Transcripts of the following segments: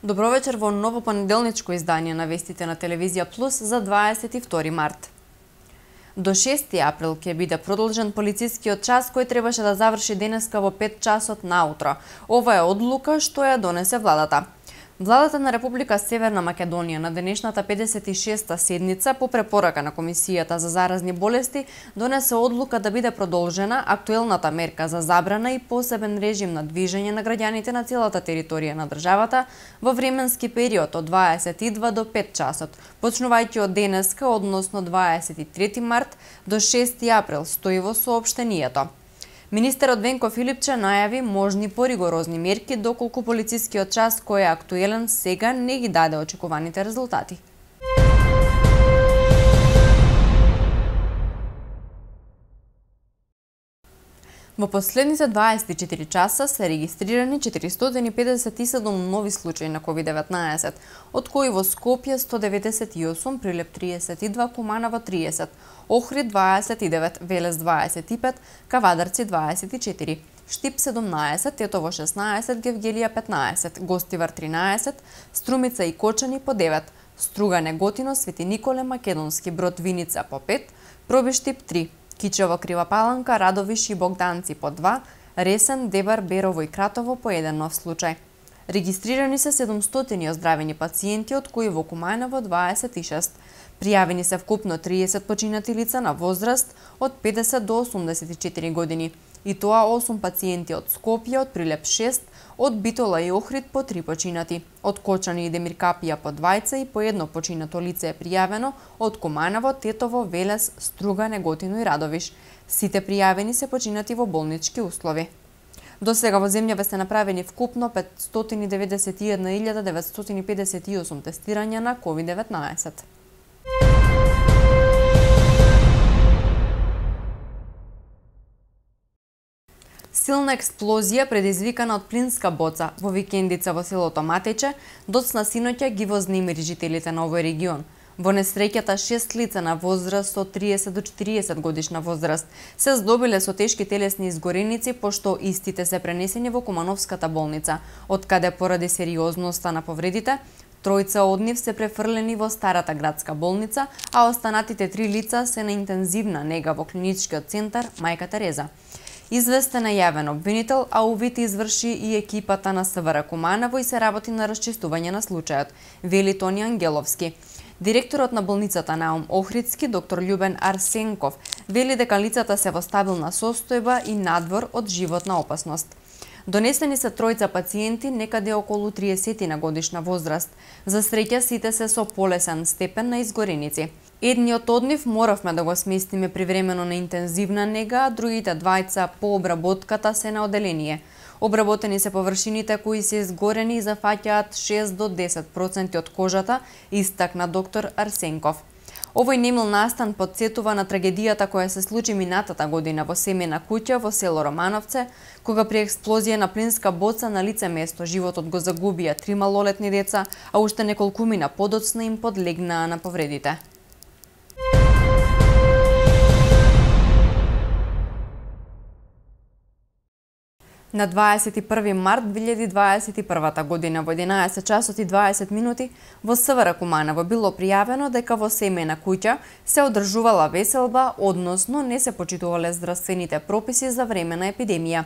Добро вечер во ново понеделничко издание на вестите на Телевизија Плюс за 22 март. До 6 април ќе биде продолжен полицискиот час кој требаше да заврши денеска во 5 часот наутро. Ова е одлука што ја донесе владата. Владата на Република Северна Македонија на денешната 56-та седница по препорака на Комисијата за заразни болести донесе одлука да биде продолжена актуелната мерка за забрана и посебен режим на движење на граѓаните на целата територија на државата во временски период од 22 до 5 часот, почнувајќи од денеска, односно 23 март до 6 април, стои во соопштението. Министерот Венко Филипче најави можни поригорозни мерки доколку полицискиот час кој е актуелен сега не ги даде очекуваните резултати. Во последните 24 часа се регистрирани 457 нови случаи на COVID-19, од кои во Скопје 198, Прилеп 32, Куманово 30, Охрид 29, Велес 25, Кавадарци 24, Штип 17, Тетово 16, Гевгелија 15, Гостивар 13, Струмица и Кочани по 9, Струга, Неготино, Свети Николе, Македонски Брод, Виница по 5, Пробиштип 3, Кичево, Крива Паланка, Радовиш и Богданци по 2, Ресен, Дебар, Берово и Кратово по 1 нов случај. Регистрирани се 700 оздравени пациенти, од кои во Куманово 26. Пријавени се вкупно 30 починати лица на возраст од 50 до 84 години. И тоа 8 пациенти од Скопје, од Прилеп 6, од Битола и Охрид по 3 починати. Од Кочани и Демиркапија по 20 и по 1 починато лице е пријавено од Куманово, Тетово, Велес, Струга, Неготино и Радовиш. Сите пријавени се починати во болнички услови. До сега во земјава се направени вкупно 591.958 тестирања на COVID-19. Силна експлозија предизвикана од плинска боца во викендица во селото Матече доцна синоќа ги вознемири жителите на овој регион. Во несреќата 6 лица на возраст од 30 до 40 годишна возраст се здобиле со тешки телесни изгореници, пошто истите се пренесени во Кумановската болница, од каде поради сериозноста на повредите, тројца од нив се префрлени во старата градска болница, а останатите 3 лица се на интензивна нега во клиничкиот центар Мајка Тереза. Известен е јавен обвинител, а увид изврши и екипата на СВР Куманово и се работи на расчистување на случајот, вели Тони Ангеловски. Директорот на болницата Наум Охридски, доктор Љубен Арсенков, вели дека лицата се во стабилна состојба и надвор од животна опасност. Донесени се тројца пациенти некаде околу 30 на годишна возраст. За среќа сите се со полесен степен на изгореници. Едниот од нив моравме да го сместиме привремено на интензивна нега, а другите двајца по обработката се на оделение. Обработени се површините кои се изгорени и зафаќаат 6 до 10% од кожата, истакна доктор Арсенков. Овој немил настан потсетува на трагедијата која се случи минатата година во семејна куќа во село Романовце, кога при експлозија на плинска боца на лице место животот го загубија 3 малолетни деца, а уште неколкумина подоцна им подлегнаа на повредите. На 21 март 2021 година во 11 часот и 20 минути во СВР Куманово било пријавено дека во семејна куќа се одржувала веселба, односно не се почитувале здравствените прописи за време на епидемија.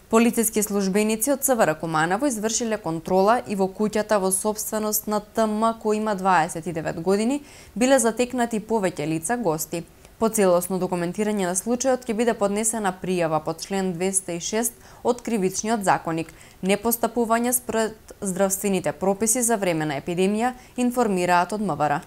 Полициски службеници од СВР Куманово извршиле контрола и во куќата во сопственост на ТМ кој има 29 години биле затекнати повеќе лица гости. По целосно документирање на случајот ќе биде поднесена пријава по член 206 од Кривичниот законник, непостапување според здравствените прописи за време на епидемија, информираат од МВР.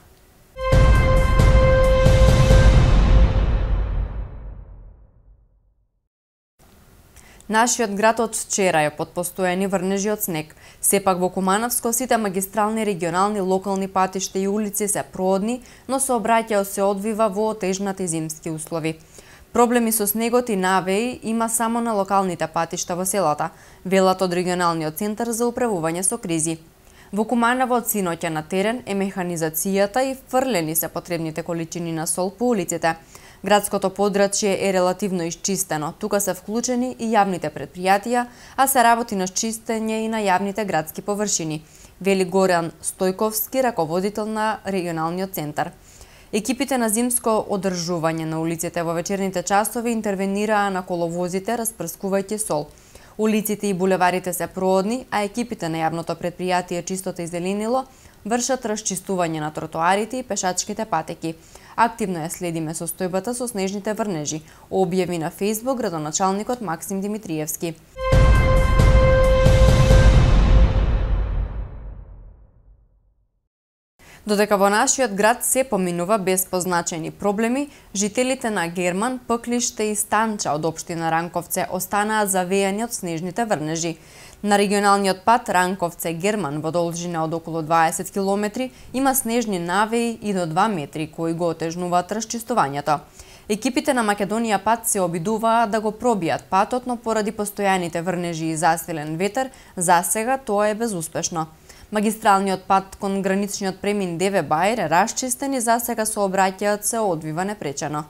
Нашиот град од вчера е под постојани врнежи од снег. Сепак во Кумановско сите магистрални, регионални, локални патишта и улици се проодни, но сообраќајот се одвива во отежнати зимски услови. Проблеми со снегот и навеи има само на локалните патишта во селата, велат од регионалниот центар за управување со кризи. Во Куманово од синоќа на терен е механизацијата и фрлени се потребните количини на сол по улиците. Градското подрачје е релативно исчистено. Тука се вклучени и јавните предпријатија, а се работи на чистење и на јавните градски површини. вели Горан Стојковски, раководител на регионалниот центар. Екипите на зимско одржување на улиците во вечерните часови интервенираа на коловозите, распрскувајќи сол. Улиците и булеварите се проодни, а екипите на јавното претпријатие Чистота и зеленило вршат расчистување на тротоарите и пешачките патеки. Активно ја следиме состојбата со снежните врнежи, објави на Facebook градоначалникот Максим Димитриевски. Додека во нашиот град се поминува без позначени проблеми, жителите на Герман, Пклиште и Станча од општина Ранковце останаа завејани од снежните врнежи. На регионалниот пат Ранковце-Герман во должина од околу 20 км има снежни навеи и до 2 метри кои го отежнуваат расчистувањето. Екипите на Македонија пат се обидуваа да го пробијат патот, но поради постојаните врнежи и засилен ветер, засега тоа е безуспешно. Магистралниот пат кон граничниот премин Деве Бајер е расчистен и засега сообраќајот се одвива непречено.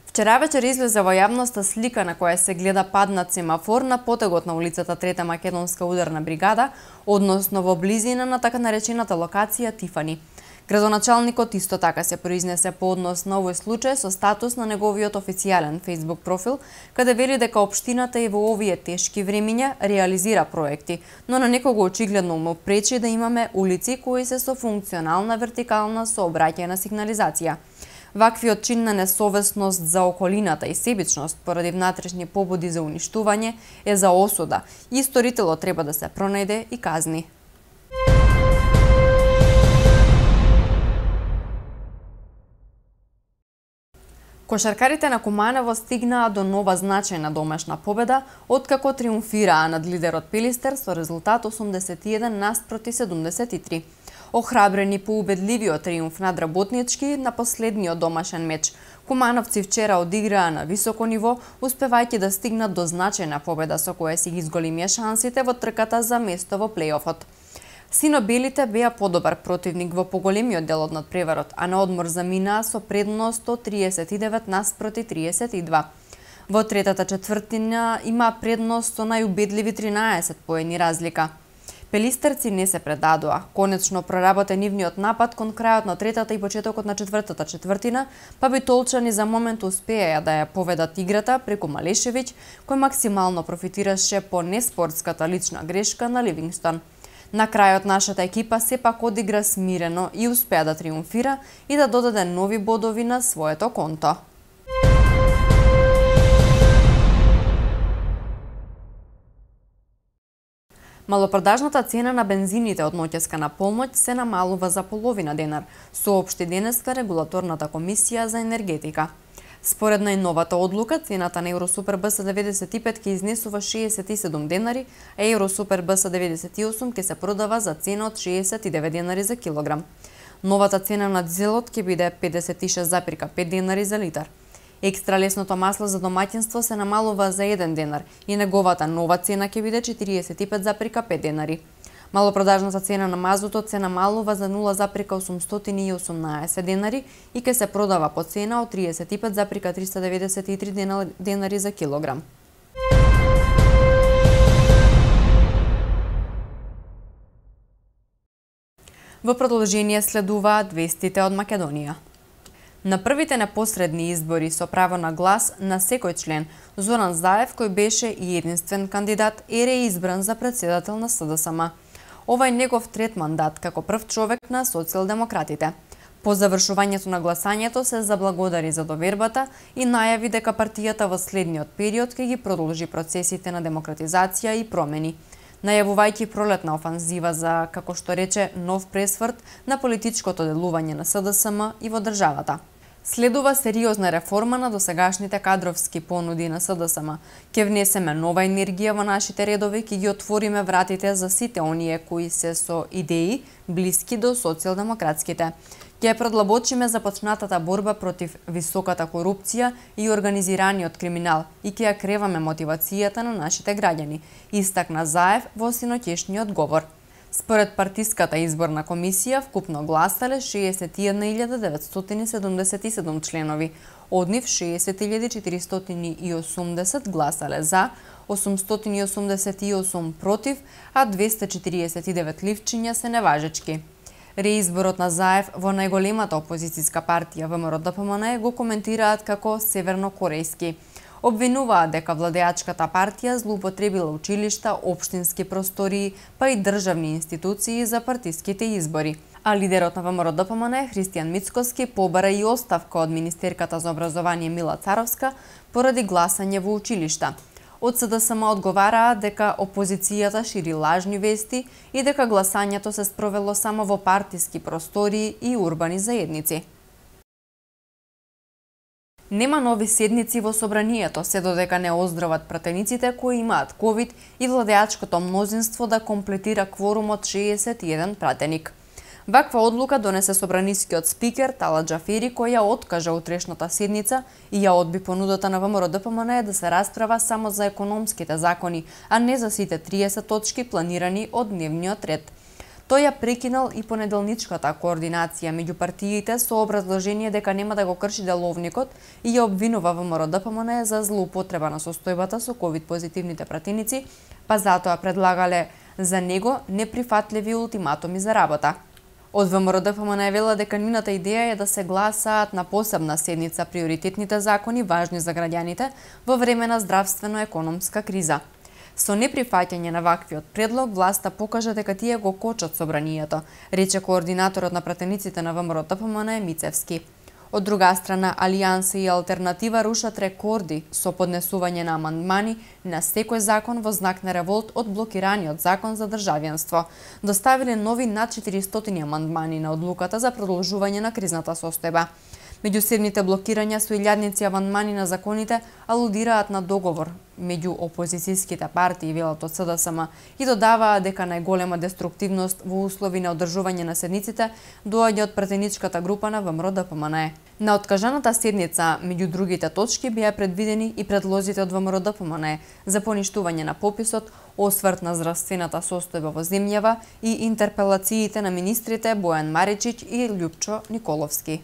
Вчера вечер излезе во јавноста слика на која се гледа паднат семафор на потегот на улицата Трета македонска ударна бригада, односно во близина на така наречената локација Тифани. Градоначалникот исто така се произнесе по однос на овој случај со статус на неговиот официјален Facebook профил, каде вели дека општината и во овие тешки времиња реализира проекти, но на некого очигледно му пречи да имаме улици кои се со функционална вертикална сообраќајна сигнализација. Ваквиот чин на несовесност за околината и себичност поради внатрешни побуди за уништување е за осуда и сторителот треба да се пронајде и казни. Кошаркарите на Куманово стигнаа до нова значајна домашна победа, откако триумфираа над лидерот Пелистер со резултат 81:73. Охрабрени по убедливиот триумф над Работнички на последниот домашен меч, кумановци вчера одиграа на високо ниво, успевајќи да стигнат до значајна победа со која си ги изголемија шансите во трката за место во плејофот. Сино-белите беа подобар противник во поголемиот дел од надпреварот, а на одмор заминаа со предност од 39:32. Во третата четвртина има предност со најубедливи 13 поени разлика. Пелистерци не се предадоа. Конечно проработен нивниот напад кон крајот на третата и почетокот на четвртата четвртина, па битолчани за момент успеа да ја поведат играта преку Малешевиќ, кој максимално профитираше по неспортската лична грешка на Ливингстон. На крајот нашата екипа сепак одигра смирено и успеа да триумфира и да додаде нови бодови на своето конто. Малопродажната цена на бензините од ноќеска на полноќ се намалува за половина денар, соопшти денеска регулаторната комисија за енергетика. Според најновата одлука, цената на Евросупер БС95 ќе изнесува 67 денари, а Евросупер БС98 ќе се продава за цена од 69 денари за килограм. Новата цена на дизелот ќе биде 56,5 денари за литар. Екстра лесното масло за домаќинство се намалува за 1 денар и неговата нова цена ќе биде 45,5 денари. Малопродажната цена на мазутот се намалува за 0,818 денари и ќе се продава по цена од 35,393 денари за килограм. Во продолжение следуваат вестите од Македонија. На првите непосредни избори со право на глас на секој член, Зоран Заев, кој беше и единствен кандидат, е реизбран за претседател на СДСМ. Ова е негов трет мандат како прв човек на социјалдемократите. По завршувањето на гласањето се заблагодари за довербата и најави дека партијата во следниот период ќе ги продолжи процесите на демократизација и промени, најавувајќи пролетна офанзива за, како што рече, нов пресврт на политичкото делување на СДСМ и во државата. Следува сериозна реформа на досегашните кадровски понуди на СДСМ. Ќе внесеме нова енергија во нашите редови, ќе ги отвориме вратите за сите оние кои се со идеи блиски до социјалдемократските. Ќе предлабочиме започнатата борба против високата корупција и организираниот криминал и ќе ја креваме мотивацијата на нашите граѓани, истакна Заев во синоќешниот говор. Според партиската изборна комисија, вкупно гласале 61.977 членови, од нив 60.480 гласале за, 888 против, а 249 ливчиња се неважечки. Реизборот на Заев во најголемата опозицијска партија ВМРО-ДПМН го коментираат како севернокорејски. Обвинуваат дека владеачката партија злоупотребила училишта, општински простории, па и државни институции за партиските избори. А лидерот на ВМРО-ДПМН, Христијан Мицкоски, побара и оставка од министерката за образование Мила Царовска поради гласање во училишта. Од СДСМ одговараат дека опозицијата шири лажни вести и дека гласањето се спровело само во партиски простории и урбани заедници. Нема нови седници во собранието, се додека не оздрават пратениците кои имаат ковид и владеачкото мнозинство да комплетира кворумот 61 пратеник. Ваква одлука донесе собранискиот спикер Тала Џафери, кој ја откажа утрешната седница и ја одби понудата на ВМРО-ДПМН да се расправа само за економските закони, а не за сите 30 точки планирани од дневниот ред. Тој ја прекинал и понеделничката координација меѓу партиите со образложение дека нема да го крши деловникот и ја обвинува ВМРО-ДПМН за злоупотреба на состојбата со ковид позитивните пратеници, па затоа предлагале за него неприфатливи ултиматуми за работа. Од ВМРО-ДПМН вела дека нивната идеја е да се гласаат на посебна седница приоритетните закони важни за граѓаните во време на здравствено-економска криза. Со неприфаќање на ваквиот предлог, власта покажа дека тие го кочат собранието, рече координаторот на пратениците на ВМРО-ДПМН Мицевски. Од друга страна, Алијанса и Алтернатива рушат рекорди со поднесување на амандмани на секој закон во знак на револт од блокираниот закон за државенство. Доставиле нови над 400 амандмани на одлуката за продолжување на кризната состојба. Меѓусебните блокирања со илјадници амандмани на законите алудираат на договор меѓу опозицијските партии, велат од СДСМ, и додаваат дека најголема деструктивност во услови на одржување на седниците доаѓа од пратеничката група на ВМРО-ДПМН. На откажаната седница, меѓу другите точки, беа предвидени и предлозите од ВМРО-ДПМН за поништување на пописот, осврт на здравствената состојба во земјава и интерпелациите на министрите Бојан Маричич и Љупчо Николовски.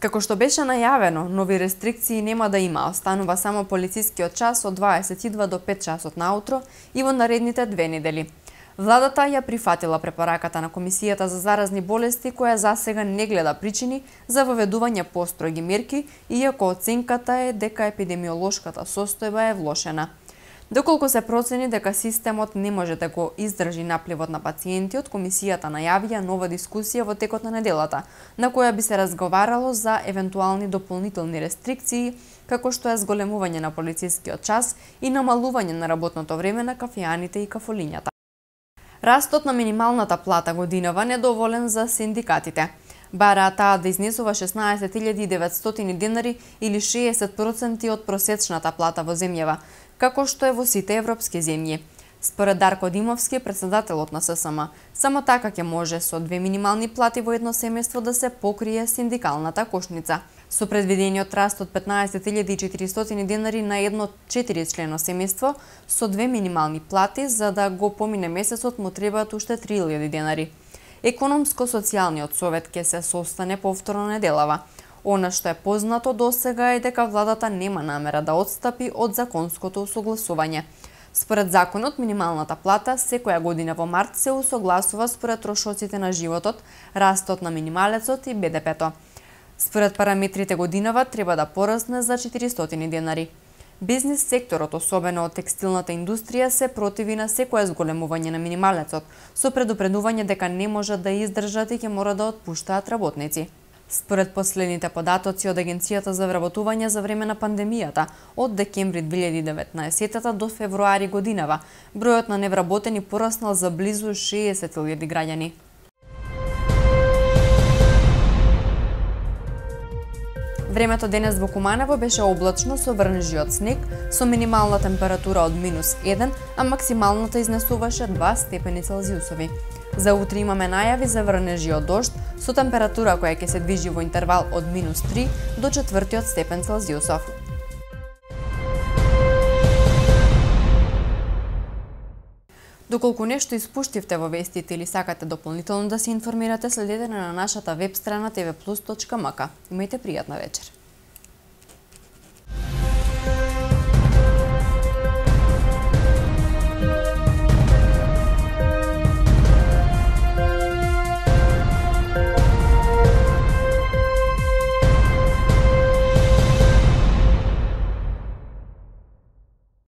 Како што беше најавено, нови рестрикции нема да има, останува само полицискиот час од 22 до 5 часот наутро и во наредните 2 недели. Владата ја прифатила препораката на Комисијата за заразни болести, која засега не гледа причини за воведување построги мерки, иако оценката е дека епидемиолошката состојба е влошена. Доколку се процени дека системот не може да го издржи напливот на пациентиот, Комисијата најавија нова дискусија во текот на неделата, на која би се разговарало за евентуални дополнителни рестрикции, како што е зголемување на полицискиот час и намалување на работното време на кафеаните и кафолињата. Растот на минималната плата годинава недоволен за синдикатите. Бараа таа да изнесува 16.900 денари или 60% од просечната плата во земјава, како што е во сите европски земји. Според Дарко Димовски, председателот на ССМ, само така ќе може со 2 минимални плати во едно семејство да се покрие синдикалната кошница. Со предвидениот раст од 15.400 денари на едно 4-члено семејство со 2 минимални плати, за да го помине месецот му требаат уште 3.000 денари. Економско-социјалниот совет ќе се состане повторно неделава. Она што е познато досега е дека владата нема намера да отстапи од законското усогласување. Според законот, минималната плата секоја година во март се усогласува според трошоците на животот, растот на минималецот и БДП-то. Според параметрите годинава треба да порасне за 400 денари. Бизнис секторот, особено од текстилната индустрија, се противи на секое зголемување на минималецот, со предупредување дека не можат да издржат и ќе мора да отпуштаат работници. Според последните податоци од Агенцијата за вработување за време на пандемијата, од декември 2019 до февруари годинава, бројот на невработени пораснал за близу 60.000 граѓани. Времето денес во Куманово беше облачно со врнежи од снег, со минимална температура од -1, а максималната изнесуваше 2 степени Целзиусови. За утре имаме најави за врнежи од дожд, со температура која ќе се движи во интервал од -3 до 4 степен Целзиусов. Доколку нешто испуштивте во вестите или сакате дополнително да се информирате, следете на нашата веб страна tvplus.mk. Имајте пријатна вечер.